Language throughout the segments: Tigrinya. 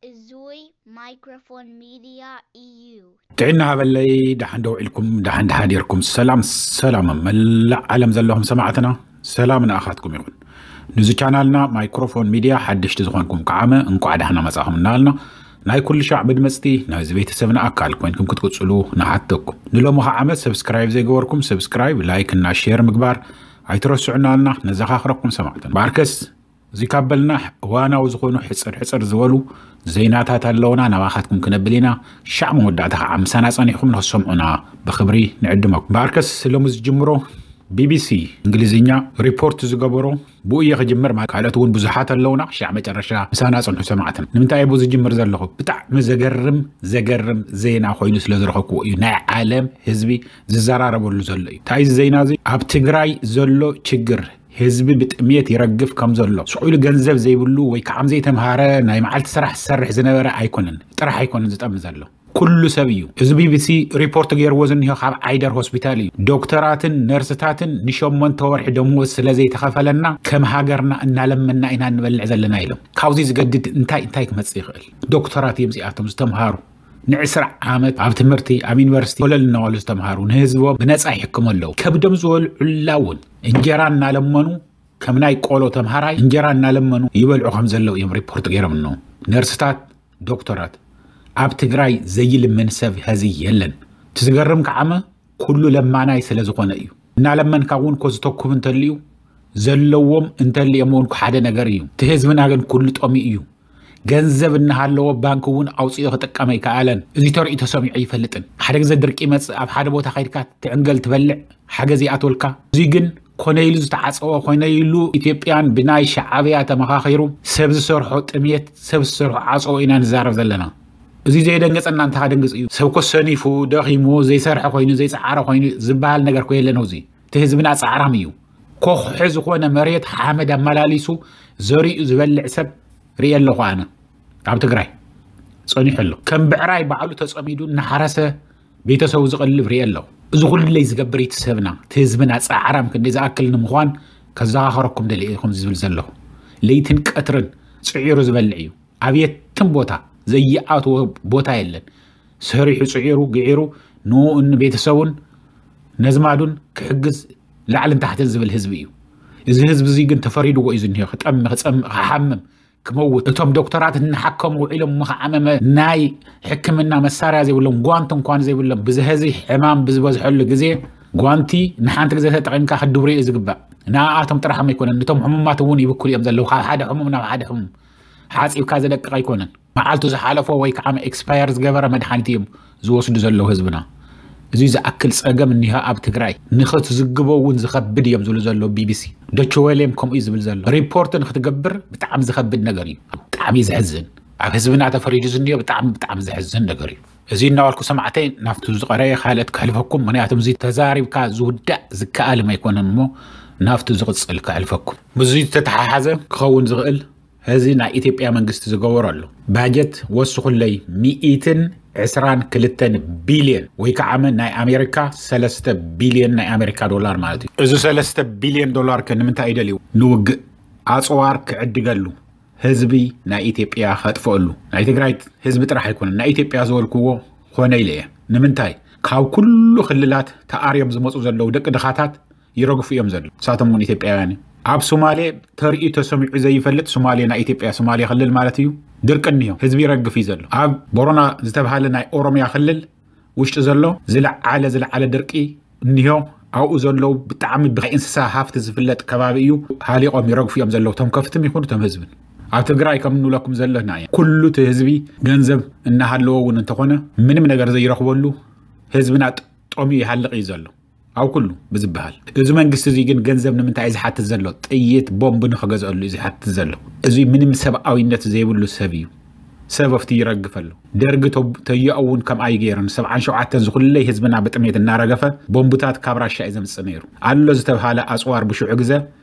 እዙይ ማይክሮፎን ሚድያ እዩ። ጥዕና ሃበለይ። ደሓን ዶ ውዒልኩም? ደሓን ደሓን ዲርኩም? ሰላም ሰላም መላእ ዓለም ዘለኹም ሰማዕትና፣ ሰላም ንኣኻትኩም ይኹን። ንዚ ቻናልና ማይክሮፎን ሚድያ ሓደሽቲ ዝኾንኩም ከዓመ እንኳዕ ደሓና መጻኹም እናበልና፣ ናይ ኩሉ ሻዕ መድመጽቲ ናይዚ ቤተሰብና ኣካል ኮይንኩም ክትቅጽሉ ንሓተኩም። ንሎሚ ከዓመ ሰብስክራይብ ዘይገበርኩም ሰብስክራይብ፣ ላይክ እና ሼር ምግባር ኣይትረስዑ እናበልና ነዘኻኽረኩም ሰማዕትና። ባርከስ እዚ ካብ በልና እዋናዊ ዝኾኑ ሕጽር ሕጽር ዝበሉ ዜናታት ኣለውና፣ ናባኻትኩም ክነብል ኢና። ሻዕ መወዳእታ ከዓ ምሳና ጸኒሕኩም ንኽትሰምዑና ብኽብሪ ንዕድመኩም። ባርከስ ሎሚ ዝጅምሮ ቢቢሲ እንግሊዝኛ ሪፖርት ዝገበሮ ብኡ እየ ክጅምር። ማ-፣ ካልኦት እውን ብዙሓት ኣለውና። ሻዕ መጨረሻ ምሳና ጽንሑ ሰማዕትና። ንምንታይ እየ ብኡ ዝጅምር ዘለኹ? ብጣዕሚ ዘገርም ዘገርም ዜና ኮይኑ ስለ ዝረኸብኩዎ እዩ። ናይ ዓለም ህዝቢ ዝዘራረበሉ ዘሎ እዩ። እንታይ እዚ ዜና እዚ? ኣብ ትግራይ ዘሎ ችግር፣ ህዝቢ ብጥሜት ይረግፍ ከም ዘሎ፣ ስቕ ኢሉ ገንዘብ ዘይብሉ ወይ ከዓ ዘይተምሃረ፣ ናይ መዓልቲ ስራሕ ዝሰርሕ ዝነበረ ኣይኮነን፣ ጥራሕ ኣይኮነን ዝጠሚ ዘሎ፣ ኩሉ ሰብ እዩ። እዚ ቢቢሲ ሪፖርት ገይርዎ ዝኒሆ ካብ ዓይደር ሆስፒታል እዩ። ዶክተራትን ነርስታትን ንሸሞንተ ወርሒ ደሞዝ ስለ ዘይተኸፈለና ከም ሃገርና እናለመና ኢና እንበልዕ ዘለና ኢሎም። ካብዚ ዝገድድ እንታይ እንታይ ክመጽእ ይኽእል? ዶክተራት እዮም እዚኣቶም ዝተምሃሩ፣ ንዕስራ ዓመት ኣብ ትምህርቲ ኣብ ዩኒቨርሲቲ ኮለል እናበሉ ዝተምሃሩ፣ ንህዝቦም ብነፃ ይሕክሙ ኣለዉ። ከብዶም ዝበልዑላ እውን እንጀራ እናለመኑ፣ ከም ናይ ቆሎ ተምሃራይ እንጀራ እናለመኑ ይበልዑ ከም ዘለዉ እዮም ሪፖርት ገይሮም ኣለዉ። ነርስታት፣ ዶክተራት፣ ኣብ ትግራይ ዘይልምን ሰብ ሀዚ የለን። እቲ ዝገርም ከዓመ ኩሉ ለማናይ ስለ ዝኾነ እዩ። እናለመንካ እውን እኮ ዝተኩብ እንተልዩ፣ ዘለዎም እንተልዮም እውን እኮ ሓደ ነገር እዩ። እቲ ህዝብና ግን ኩሉ ጠሚኡ እዩ። ገንዘብ እናሃለዎ ባንክ እውን ኣውፂኡ ክጥቀም ኣይከኣለን። እዚ ተርእዩ ተሰሚዑ ኣይፈልጥን። ሓደ ግዜ ድርቂ ይመፅእ፣ ኣብ ሓደ ቦታ ከይድካ ትዕንገል ትበልዕ፣ ሓገዝ ይኣትወልካ። እዚ ግን ኮነ ኢሉ ዝተዓፀወ፣ ኮነ ኢሉ ኢትዮጵያን ብናይ ሻዓብያ ተመኻኺሩ ሰብ ዝሰርሖ ጥምየት፣ ሰብ ዝሰርሖ ዓፀዎ ኢና ንዛረብ ዘለና። እዚ ዘየደንገፀና እንታይ ከደንግፅ እዩ? ሰብ እኮ ሰኒፉ፣ ደኺሙ፣ ዘይሰርሐ ኮይኑ፣ ዘይፀዓረ ኮይኑ ዝበሃል ነገር እኮ የለን። እዚ እቲ ህዝብና ፃዕራም እዩ። ኮኽሒ ዝኾነ መሬት ሓመድ ኣመላሊሱ ዘሪኡ ዝበልዕ ሰብ ርእየ ኣለኹ ኣነ። ኣብ ትግራይ ጸኒሑ ኣሎ። ከም ብዕራይ ባዕሉ ተጸሚዱ እናሓረሰ ቤተሰቡ ዝቐልብ ርእየ ኣለኹ። እዚ ኩለይ ዝገብር እቲ ሰብና፣ እቲ ህዝብና ጻዕራም ክንደይ ዝኣክል ንምዃን ከዘኻኽረኩም ደልየ እየ ከምዚ ዝብል ዘለኹ። ለይትን ቀትርን ጽዒሩ ዝበልዕ እዩ። ኣብ የትም ቦታ ዘይኣትዎ ቦታ የለን። ሰሪሑ ጽዒሩ ግዒሩ ንኡን ቤተሰቡን ነዝማዱን ክሕግዝ ላዕልን ታሕትን ዝብል ህዝቢ እዩ። እዚ ህዝቢ እዚ ግን ተፈሪድዎ እዩ ዝኒሆ። ክጠሚ፣ ክጸምእ፣ ክሓምም፣ ክመውት። እቶም ዶክተራት እናሓከሙ ውዒሎም ምኽዓመመ ናይ ሕክምና መሳርያ ዘይብሎም፣ ጓንት እንኳን ዘይብሎም፣ ብዝሀዚ ሕማም ብዝበዝሐሉ ግዜ ጓንቲ ንሓንቲ ግዜ ተጠቒምካ ክትድብርዮ እዩ ዝግባእ። ንኣኣቶም ጥራሕ ኣይኮነን፣ ነቶም ሕሙማት እውን ይብክሉ እዮም ዘለዉ። ካብ ሓደ ሕሙም ናብ ሓደ ሕሙም ሓፂብካ ዘደቅቕ ኣይኮነን። መዓልቱ ዝሓለፎ ወይ ከዓ ኤክስፓየር ዝገበረ መድሓኒት እዮም ዝወስዱ ዘለዉ ህዝብና። እዚ ዝኣክል ፀገም እኒሆ ኣብ ትግራይ፣ ንኽትዝግቦ እውን ዝኸብድ እዮም ዝብሉ ዘለዉ ቢቢሲ። ዶቼ ዌለ እዮም ከምኡ እዩ ዝብል ዘሎ። ሪፖርት ንክትገብር ብጣዕሚ ዝኸብድ ነገር እዩ። ብጣዕሚ እዩ ዘሕዝን። ኣብ ህዝብና ተፈሪዱ ዝኒኦ ብጣዕሚ ብጣዕሚ ዘሕዝን ነገር እዩ። እዚ እናበልኩ ሰማዕተይ ናብቲ ዝቐረየ ካልኦት ከሕልፈኩም፣ ምክንያቱም እዚ ተዛሪብካ ዝውዳእ ዝከኣል ኣይኮነን እሞ ናብቲ ዝቕፅል ከሕልፈኩም። ምስዚ ዝተተሓሓዘ ክኸውን ዝኽእል፣ እዚ ናይ ኢትዮጵያ መንግስቲ ዝገበሮ ኣሎ። ባጀት ወስኹለይ ሚእትን ዕስራን ክልተን ቢልዮን ወይ ከዓ ናይ ኣሜሪካ ሰለስተ ቢልዮን ናይ ኣሜሪካ ዶላር ማለት እዩ። እዚ ሰለስተ ቢልዮን ዶላር ከ ንምንታይ እዩ ደልዩ? ንውግእ ኣፅዋር ክዕድገሉ፣ ህዝቢ ናይ ኢትዮጵያ ከጥፍአሉ። ናይ ትግራይ ህዝቢ ጥራሕ ኣይኮነን፣ ናይ ኢትዮጵያ ዝበልክዎ ኮነ ኢለ እየ። ንምንታይ? ካብ ኩሉ ክልላት ተኣርዮም ዝመፁ ዘለዉ ደቂ ድኻታት ይረግፉ እዮም ዘለዉ። ንሳቶም እውን ኢትዮጵያውያን እዮም። ኣብ ሶማሌ ተርእዩ ተሰሚዑ ዘይፈልጥ፣ ሶማሌ ናይ ኢትዮጵያ ሶማሌ ክልል ማለት እዩ፣ ድርቂ እኒሆ፣ ህዝቢ ይረግፍ እዩ ዘሎ። ኣብ ቦረና ዝተብሃለ ናይ ኦሮሚያ ክልል ውሽጢ ዘሎ ዝለዓለ ዝለዓለ ድርቂ እኒሆ። ኣብኡ ዘለዉ ብጣዕሚ ብናይ እንስሳ ሃፍቲ ዝፍለጥ ከባቢ እዩ። ሃሊቖም ይረግፉ እዮም ዘለዉ፣ እቶም ከፍትም ይኹኑ እቶም ህዝብን። ኣብ ትግራይ ከም እንብለኩም ዘለና እያ። ኩሉ እቲ ህዝቢ ገንዘብ እናሃለዎ እውን እንተኾነ ምንም ነገር ዘይረኽበሉ፣ ህዝብና ጥ-፣ ጠምዩ ይሃልቕ እዩ ዘሎ። ኣብ ኩሉ ብዝበሃል። እዚ መንግስቲ እዚ ግን ገንዘብ ንምንታይ እዩ ዝሓትት ዘሎ? ጥይት፣ ቦምብ ንኽገዝአሉ እዩ ዝሓትት ዘሎ። እዚ ምንም ሰብኣዊነት ዘይብሉ ሰብ እዩ። ሰብ ኣብቲ ይረግፍ ኣሎ። ደርጊ ተ-፣ ተየኡ እውን ከምኣ እዩ ገይሩ። ንሰብዓን ሸውዓተን ዝኹለይ ህዝብና ብጥሜት እናረገፈ ቦምብታት ካብ ራሻ እዩ ዘምጽእ ነይሩ። ኣሎ ዝተብሃለ ኣጽዋር ብሽዑ ግዘ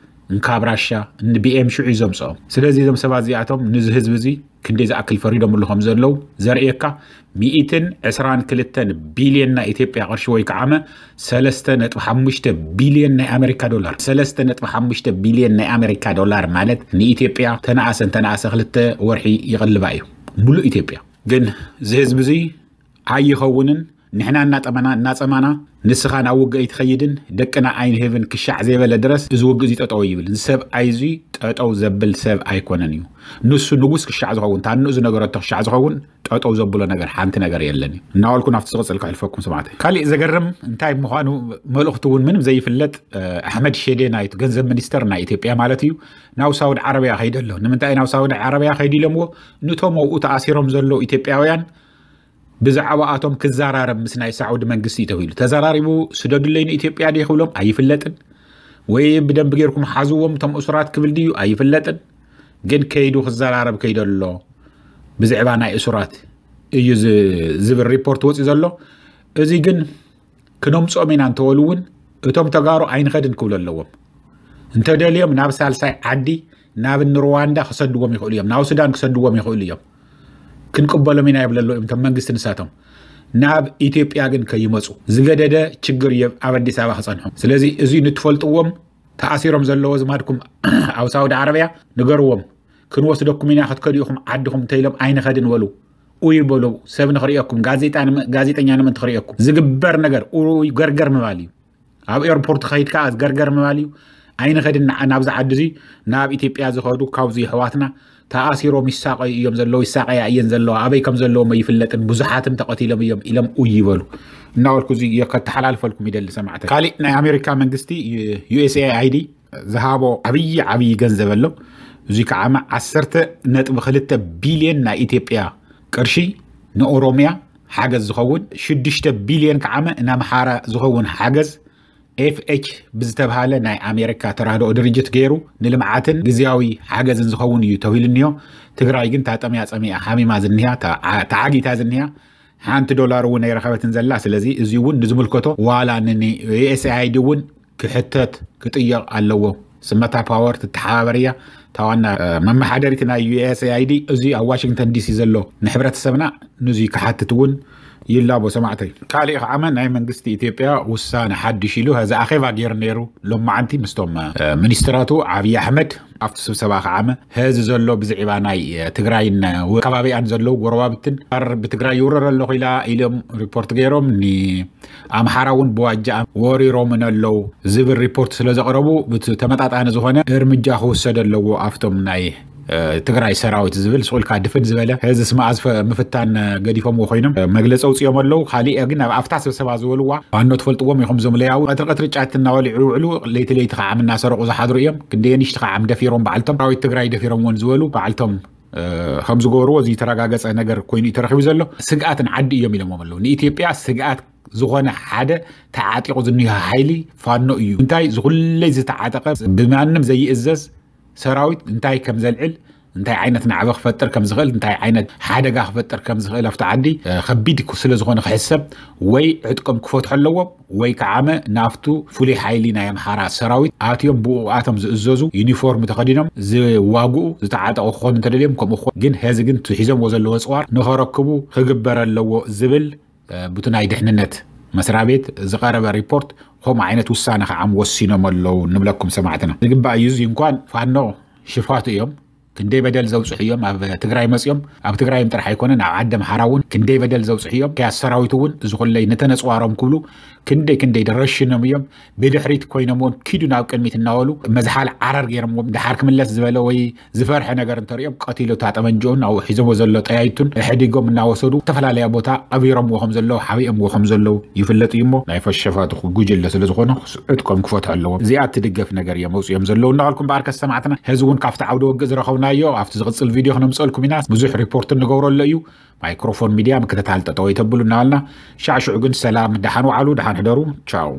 እንካብ ራሻ ንቢኤም ሽዑ እዩ ዘምጽኦም። ስለዚ እዞም ሰባት እዚኣቶም ነዚ ህዝቢ እዚ ክንደይ ዝኣክል ፈሪዶምሉ ከም ዘለዉ ዘርእየካ፣ ሚእትን ዕስራን ክልተን ቢልዮን ናይ ኢትዮጵያ ቅርሺ ወይ ከዓመ ሰለስተ ነጥቢ ሓሙሽተ ቢልዮን ናይ ኣሜሪካ ዶላር። ሰለስተ ነጥቢ ሓሙሽተ ቢልዮን ናይ ኣሜሪካ ዶላር ማለት ንኢትዮጵያ ተነኣሰ እንተነኣሰ ክልተ ወርሒ ይቕልባ እዩ። ሙሉእ ኢትዮጵያ። ግን እዚ ህዝቢ እዚ ኣይኸውንን። ንሕና እናጠመና እናጸማና ንስኻ ናብ ውግእ ኣይትኸይድን፣ ደቅና ኣይንህብን ክሻዕ ዘይበለ ድረስ እዚ ውግእ እዚ ጠጠው ይብል። እዚ ሰብኣይ እዚ ጠጠው ዘብል ሰብ ኣይኮነን እዩ። ንሱ ንጉስ ክሻዕ ዝኸውን፣ ታንኡ ዝነገረቶ ክሻዕ ዝኸውን ጠጠው ዘብሎ ነገር ሓንቲ ነገር የለን እዩ። እናበልኩ ናብቲ ዝቕጽል ከሕልፈኩም ሰማዕተይ። ካሊእ ዘገርም እንታይ ምዃኑ፣ መልእኽቱ እውን ምንም ዘይፍለጥ ኣሕመድ ሼዴ፣ ናይቲ ገንዘብ ሚኒስተር ናይ ኢትዮጵያ ማለት እዩ፣ ናብ ሳውዲ ዓረብያ ከይደ ኣሎ። ንምንታይ ናብ ሳውዲ ዓረብያ ከይዲ ኢሎምዎ? ንቶም ኣብኡ ተኣሲሮም ዘለዉ ኢትዮጵያውያን ብዛዕባኣቶም ክዘራረብ ምስ ናይ ሳዑዲ መንግስቲ እዩ ተባሂሉ። ተዘራሪቡ ስደዱለይ ንኢትዮጵያ ድዩ ክብሎም ኣይፍለጥን፣ ወይ ብደንቢ ጌርኩም ሓዝዎም እቶም እሱራት ክብል ድዩ ኣይፍለጥን። ግን ከይዱ ክዘራረብ ከይደ ኣሎ። ብዛዕባ ናይ እሱራት እዩ ዝ-፣ ዝብል ሪፖርት ወፂኡ ዘሎ። እዚ ግን ክነምፅኦም ኢና እንተበሉ እውን እቶም ተጋሩ ኣይንኸድን ክብሉ ኣለዎም። እንተደልዮም ናብ ሳልሳይ ዓዲ፣ ናብ እኒ ሩዋንዳ ክሰድዎም ይኽእሉ እዮም፣ ናብ ሱዳን ክሰድዎም ይኽእሉ እዮም። ክንቅበሎም ኢና ይብሉ ኣለዉ እዮም እቶም መንግስቲ ንሳቶም። ናብ ኢትዮጵያ ግን ከይመፁ ዝገደደ ችግር እዩ ኣብ ኣዲስ ኣበባ ክፀንሖም። ስለዚ እዚ ንትፈልጥዎም፣ ተኣሲሮም ዘለዉ ዝማድኩም ኣብ ሳውዲ ዓረብያ ንገርዎም። ክንወስደኩም ኢና፣ ክትከዱ ኢኹም ዓድኹም እንተኢሎም ኣይንኸድን በሉ። ኡይ በሉ፣ ሰብ ንኽርእየኩም፣ ጋዜጣ ንመ-፣ ጋዜጠኛ ንምእንቲ ክርእየኩም። ዝግበር ነገር ኡይ ገርገር ምባል እዩ። ኣብ ኤርፖርት ከይድ ከኣ ገርገር ምባል እዩ። ኣይንኸድን ንዓ-፣ ናብዚ ዓዲ እዚ፣ ናብ ኢትዮጵያ ዝኸዱ ካብዚ ኣሕዋትና ተኣሲሮም ይሳቐዩ እዮም ዘለዉ፣ ይሳቐያ እየን ዘለዋ፣ ኣበይ ከም ዘለዎም ኣይፍለጥን፣ ብዙሓትም ተቐቲሎም እዮም ኢሎም ኡይ ይበሉ። እናበልኩ እዚ ከተሓላልፈልኩም ይደሊ ሰማዕተይ። ካሊእ ናይ ኣሜሪካ መንግስቲ፣ ዩ-፣ ዩ ኤስ ኤ ኣይ ዲ ዝሃቦ ዓብዪ ዓብዪ ገንዘብ ኣሎ። እዚ ከዓመ ዓሰርተ ነጥቢ ክልተ ቢልዮን ናይ ኢትዮጵያ ቅርሺ ንኦሮሚያ ሓገዝ ዝኸውን፣ ሽዱሽተ ቢልዮን ከዓመ ንኣምሓራ ዝኸውን ሓገዝ ኤፍ ኤች ብዝተብሃለ ናይ ኣሜሪካ ተራድኦ ድርጅት ገይሩ ንልምዓትን ግዝያዊ ሓገዝን ዝኸውን እዩ ተባሂሉ እኒኦ። ትግራይ ግን እታ ጠምያ ጸሚኣ ሓሚማ ዝኒሃ፣ ተዓ-፣ ተዓጊታ ዝኒሃ፣ ሓንቲ ዶላር እውን ኣይረኸበትን ዘላ። ስለዚ እዚ እውን ንዝምልከቶ ዋላ ን-፣ ን-፣ ዩ ኤስ ኤ ኣይ ዲ እውን ክሕተት ክጥየቕ ኣለዎ። ስመታ ፓወር ትተሓባበር እያ፣ እታ ዋና፣ እ፣ መመሓደሪት ናይ ዩ ኤስ ኤ ኣይ ዲ። እዚ ኣብ ዋሽንግተን ዲ ሲ ዘሎ ንሕብረተሰብና ንዚ ክሓትት እውን ይላቦ ሰማዕተይ። ካሊእ ከዓመ ናይ መንግስቲ ኢትዮጵያ ውሳነ ሓድሽ ኢሉ፣ እዚ ኣኼባ ገይሩ ነይሩ ሎማዓንቲ ምስቶም፣ እ፣ ሚኒስትራቱ ዓብዪ ኣሕመድ ኣብቲ ስብሰባ ከዓመ፣ እዚ ዘሎ ብዝዒባ ናይ፣ እ፣ ትግራይን፣ እ፣ ከባቢኣን ዘለዉ ጎረባብትን፣ ኣር-፣ ብትግራይ ይውረር ኣለኹ ኢላ ኢሎም ሪፖርት ገይሮም፣ ንኣምሓራ እውን ብዋጃ ወሪሮምን ኣለዉ ዝብል ሪፖርት ስለ ዘቕረቡ፣ ብቲ ተመጣጣኒ ዝኾነ እርምጃ ክውሰድ ኣለዎ ኣብቶም ናይ፣ እ፣ ትግራይ ሰራዊት ዝብል ስቑልካ ድፍን ዝበለ፣ እዚ ስማ ኣዝፈ ምፍታን፣ እ፣ ገዲፎምዎ ኮይኖም፣ እ፣ መግለፂ ኣውፅኦም ኣለዉ። ካሊእ ግን ኣብ ኣፍታ ስብሰባ ዝበልዋ፣ ዋኖ ትፈልጥዎም ኢኹም፣ ዞም ለያዊ ቀትሪ ቀትሪ ጫት እናበልዑ ይውዕሉ፣ ለይቲ ለይቲ ከዓ እናሰረቑ ዝሓድሩ እዮም። ክንደየንሽቲ ከዓ ደፊሮም ባዕልቶም፣ ሰራዊት ትግራይ ደፊሮም እውን ዝበሉ ባዕልቶም፣ እ፣ ከም ዝገበርዎ እዚ ዝተረጋገጸ ነገር ኮይኑ እዩ ተረኺቡ ዘሎ። ስግኣት ንዓዲ እዮም ኢሎምዎም ኣለዉ። ንኢትዮጵያ ስግኣት ዝኾነ ሓደ ተዓጢቑ ዝኒሆ ሓይሊ ፋኖ እዩ። እንታይ ዝኹለይ ዝተዓጠቐ ብማንም ዘይእዘዝ ሰራዊት እንታይ ከም ዘልዕል፣ እንታይ ዓይነት ናዕቢ ክፈጥር ከም ዝኽእል፣ እንታይ ዓይነት ሓደጋ ክፈጥር ከም ዝኽእል ኣብቲ ዓዲ፣ እ፣ ከቢድ ክብ-፣ ስለ ዝኾነ ክሕሰብ ወይ ዕጥቆም ክፈትሑ ኣለዎም ወይ ከዓመ ናብቱ ፍሉይ ሓይሊ ናይ ኣምሓራ ሰራዊት ኣትዮም ብኡ ኣቶም ዝእዘዙ ዩኒፎርም ተኸዲኖም ዝዋግኡ ዝተዓጠቑ ክኾኑ እንተደልዮም ከምኡ ክኾኑ። ግን ሄዚ ግን እቲ ሒዞምዎ ዘለዉ ኣፅዋር ንኸረክቡ ክግበር ኣለዎ ዝብል፣ እ፣ ብቲ ናይ ድሕንነት መስሪያ ቤት ዝቐረበ ሪፖርት ከምኡ ዓይነት ውሳነ ከዓ ወሲኖም ኣለዉ ንብለኩም ሰማዕትና። ዝግባእ እዩ። እዚ እንኳን ፋኖ ሽፋቱ እዮም። ክንደይ በደል ዘብፅሑ እዮም ኣብ ትግራይ መፅኦም። ኣብ ትግራይም ጥራሕ ኣይኮነን፣ ኣብ ዓዲ ኣምሓራ እውን ክንደይ በደል ዘብፅሑ እዮም። ክያት ሰራዊት እውን እዚ ኩለይ ነተነፅዋሮም ክብሉ ክንደይ ክንደይ ደረሽኖም እዮም። ብድሕሪት ኮይኖም እውን ኪዱ ናብ ቅድሚት እናበሉ መዝሓል ዓረር ገይሮምዎም። ድሓር ክምለስ ዝበለ ወይ ዝፈርሐ ነገር እንተሪኦም ቀቲሉ እታ ጠመንጅኡን ኣብኡ ሒዞሞ ዘሎ ጠያይቱን ሕዲጎም እናወሰዱ ዝተፈላለያ ቦታ ቀቢሮምዎ ከም ዘለዉ፣ ሓቢኦምዎ ከም ዘለዉ ይፍለጥ እዩ እሞ፣ ናይ ፈሸፋቱ ጉጅለ ስለ ዝኾኑ ዕጥቆም ክፈትሑ ኣለዎም። እዚኣ እትድገፍ ነገር እዮም መውፅኦም ዘለዉ እናበልኩም፣ በኣርከስ ሰማዕትና፣ ሕዚ እውን ካብቲ ዓውደ ውግእ ዝረኸብናዮ ኣብቲ ዝቕፅል ቪድዮ ክነምፀልኩም ኢና። ብዙሕ ሪፖርት ንገብረሎ እዩ። ማይክሮፎን ሚድያ ምክትታል ጠጠው ኣይተብሉ እናበልና፣ ሻዕ ሽዑ ግን ሰላም፣ ደሓን ውዓሉ፣ ደሓን ሕደሩ። ቻው።